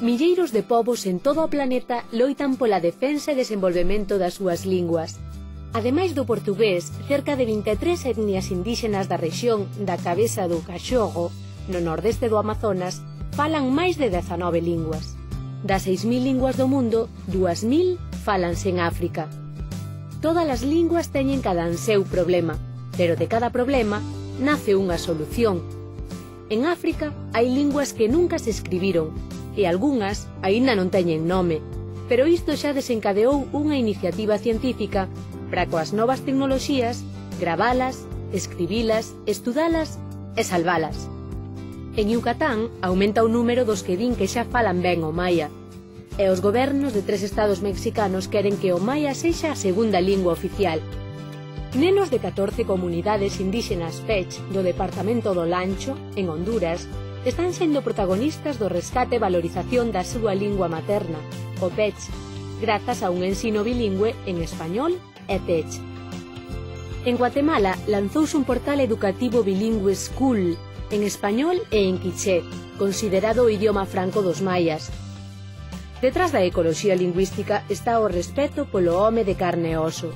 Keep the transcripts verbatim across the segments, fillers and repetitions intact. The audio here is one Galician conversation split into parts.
milleiros de povos en todo o planeta loitan pola defensa e desenvolvemento das súas linguas. Ademais do portugués, cerca de vinte e tres etnias indígenas da rexión da Cabeza do Caxogo, no nordeste do Amazonas, falan máis de dezanove linguas. Das seis mil linguas do mundo, dúas mil fálanse en África. Todas as linguas teñen cada en seu problema, pero de cada problema nace unha solución. En África hai linguas que nunca se escribiron, e algunhas aínda non teñen nome, pero isto xa desencadeou unha iniciativa científica para coas novas tecnoloxías gravalas, escribilas, estudalas e salvalas. En Yucatán aumenta o número dos que din que xa falan ben o maia, e os gobernos de tres estados mexicanos queren que o maia sexa a segunda lingua oficial. Nenos de catorce comunidades indígenas Pech do departamento do Lancho, en Honduras, están sendo protagonistas do rescate e valorización da súa lingua materna, o Pech, grazas a un ensino bilingüe en español e Pech. En Guatemala lanzouse un portal educativo bilingüe School, en español e en quiché, considerado o idioma franco dos maias. Detrás da ecoloxía lingüística está o respeto polo home de carne e oso.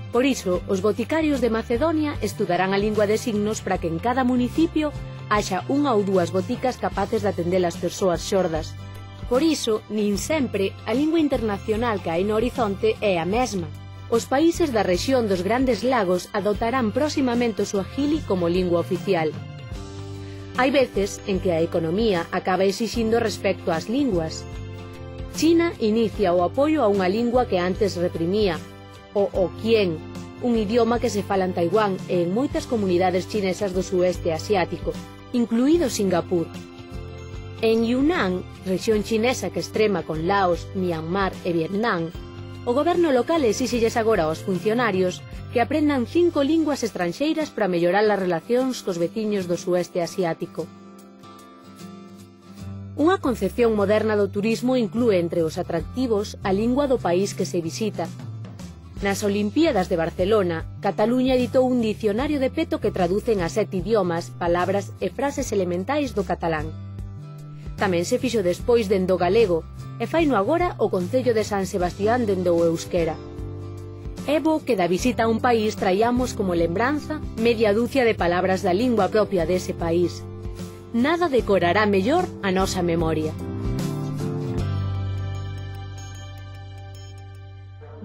Por iso, os boticarios de Macedonia estudarán a lingua de signos para que en cada municipio haxa unha ou dúas boticas capaces de atender as persoas xordas. Por iso, nin sempre a lingua internacional que hai no horizonte é a mesma. Os países da rexión dos Grandes Lagos adoptarán próximamente o suajili como lingua oficial. Hai veces en que a economía acaba exixindo respecto ás linguas. China inicia o apoio a unha lingua que antes reprimía, o Hokkien, un idioma que se fala en Taiwán e en moitas comunidades chinesas do sueste asiático, incluído Singapur. En Yunnan, rexión chinesa que extrema con Laos, Myanmar e Vietnam, o goberno local exíxelles agora aos funcionarios que aprendan cinco linguas estranxeiras para mellorar as relacións cos veciños do sueste asiático. Unha concepción moderna do turismo inclúe entre os atractivos a lingua do país que se visita. Nas Olimpíadas de Barcelona, Cataluña editou un dicionario de peto que traduce en a sete idiomas, palabras e frases elementais do catalán. Tamén se fixo despois dende o galego, e faino agora o Concello de San Sebastián dende o euskera. É bo que da visita a un país traíamos como lembranza media dúcia de palabras da lingua propia dese país. Nada decorará mellor a nosa memoria.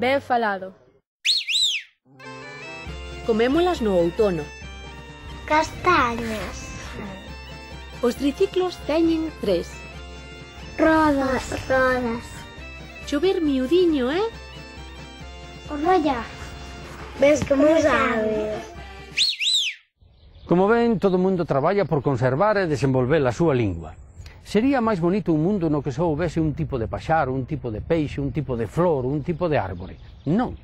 Ben falado. Comémolas no outono. Castañas. Os triciclos teñen tres. Rodas. Rodas. Chover miudiño, eh? Onolla. Ves como sabes. Como ven, todo o mundo traballa por conservar e desenvolver a súa lingua. Sería máis bonito un mundo no que só houvese un tipo de paxaro, un tipo de peixe, un tipo de flor, un tipo de árbore. Non.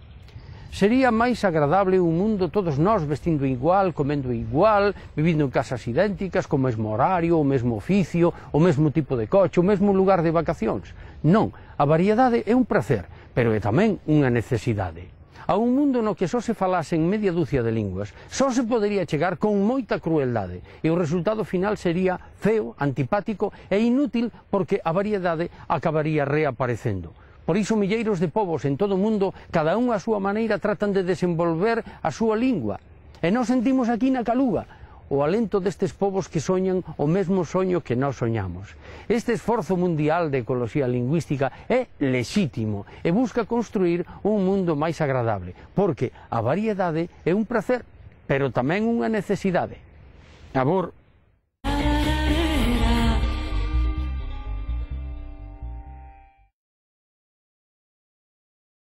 Sería máis agradable un mundo todos nós vestindo igual, comendo igual, vivindo en casas idénticas, co mesmo horario, o mesmo oficio, o mesmo tipo de coche, o mesmo lugar de vacacións. Non, a variedade é un prazer, pero é tamén unha necesidade. A un mundo no que só se falasen media dúcia de linguas, só se podería chegar con moita crueldade, e o resultado final sería feo, antipático e inútil porque a variedade acabaría reaparecendo. Por iso milleiros de povos en todo o mundo, cada un a súa maneira, tratan de desenvolver a súa lingua. E nós sentimos aquí na Caluga o alento destes povos que soñan o mesmo soño que nós soñamos. Este esforzo mundial de ecoloxía lingüística é lexítimo e busca construir un mundo máis agradable, porque a variedade é un prazer, pero tamén unha necesidade. A vor,